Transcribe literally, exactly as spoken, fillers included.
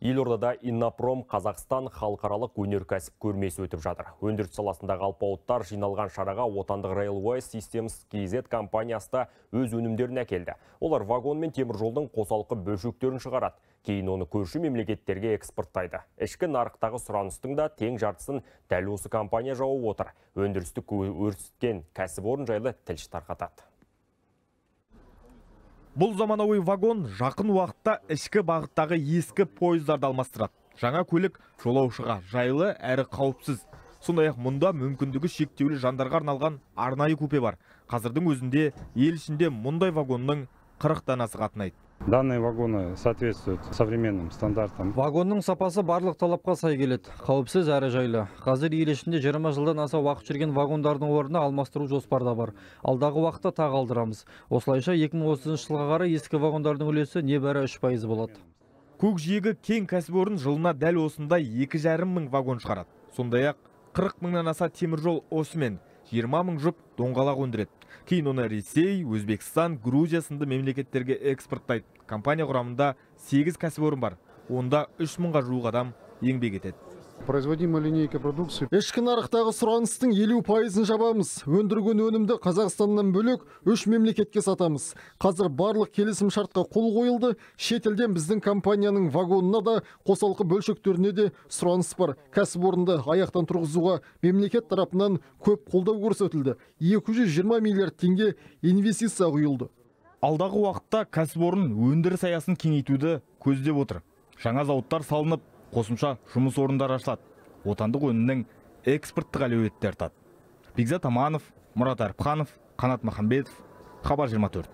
Елордада Иннопром Қазақстан халықаралық өнеркәсіп көрмесі өтіп жатыр. Өндіріс саласындағы алпауыттар жиналған шараға отандық Railway Systems кей зет компаниясы да өз өнімдерін әкелді. Олар вагон мен теміржолдың қосалқы бөлшектерін шығарады. Кейін оны көрші мемлекеттерге экспорттайды. Ішкі нарықтағы сұраныстың да тең жартысын дәл осы компания жауып отыр. Өндірісті өрісткен кәсіпорын жайлы тілші тарқатады. Бұл заманауи вагон жақын уақытта ішкі бағыттағы ескі пойыздарды алмастырады. Жаңа көлік жолаушыға жайлы әрі қауіпсіз. Сондай-ақ мұнда мүмкіндігі шектеулі жандарға арналған арнайы купе бар. Қазірдің өзінде ел ішінде мұндай вагонның қырық данасы қатынайды. Данные вагоны соответствуют современным стандартам. Вагонның сапасы барлық талапқа сай келеді. Қауіпсіз әрі жайлы. Қазір ел ішінде жиырма жылдан аса уақыт жүрген вагондардың орнына алмастыру жоспарда бар. Алдағы уақытта тағы алдырамыз. Осылайша екі мың отызыншы жылға қарай ескі вагондардың үлесі небәрі үш пайыз болады. Көкжиегі кең кәсіпорын жылына дәл осындай екі жарым мың вагон шығарады. Сондай-ақ қырық мыңнан аса теміржол осымен жиырма мың жұп доңғалақ өндіреді. Кейін оны Ресей, Өзбекстан, Грузия сынды мемлекеттерге экспорттайды. Компания құрамында сегіз кәсіпорын бар. Онда үш мыңға жуық адам еңбек етеді. Производимая линейка продукции. Ішкі нарықтағы сұраныстың елу пайызын жабамыз. Өндірген өнімді Қазақстаннан бөлек үш мемлекетке сатамыз. Қазір барлық келісім шартқа қол қойылды. Шетелден біздің компанияның вагонына да, қосалқы бөлшектеріне де сұраныс бар. Кәсіпорынды аяқтан тұрғызуға мемлекет тарапынан көп қолдау көрсетілді. екі жүз жиырма миллиард теңге инвестиция құйылды. Алдағы уақытта кәсіпорын өндіріс аясын кеңейтуді көздеп отыр. Жаңа зауыттар салынып, қосымша жұмыс орындары ашылады. Отандық өнімнің экспорттық әлеуеті артады. Бекзат Аманов, Мұрат Әріпханов, Қанат Махамбетов, Хабар жиырма төрт.